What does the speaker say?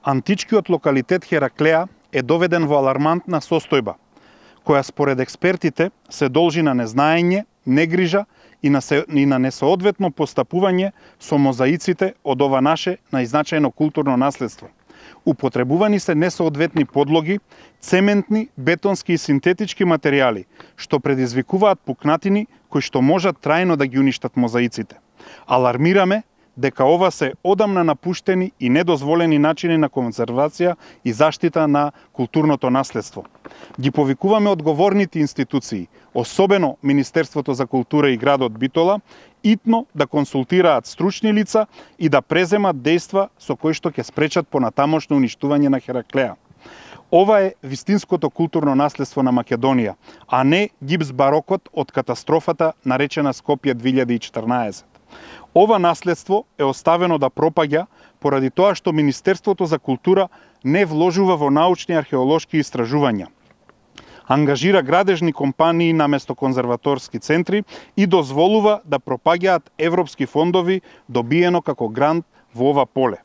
Античкиот локалитет Хераклеа е доведен во алармантна состојба, која според експертите се должи на незнаење, негрижа и на несоодветно постапување со мозаиците од ова наше најзначајно културно наследство. Употребувани се несоодветни подлоги, цементни, бетонски и синтетички материјали, што предизвикуваат пукнатини кои што можат трајно да ги уништат мозаиците. Алармираме дека ова се одамна напуштени и недозволени начини на конзервација и заштита на културното наследство. Ги повикуваме одговорните институции, особено Министерството за култура и градот Битола, итно да консултираат стручни лица и да преземат дејства со кои што ќе спречат понатамошно уништување на Хераклеа. Ова е вистинското културно наследство на Македонија, а не гипс барокот од катастрофата наречена Скопје 2014. Ова наследство е оставено да пропаѓа поради тоа што Министерството за култура не вложува во научни археолошки истражувања. Ангажира градежни компании наместо конзерваторски центри и дозволува да пропаѓаат европски фондови добиено како грант во ова поле.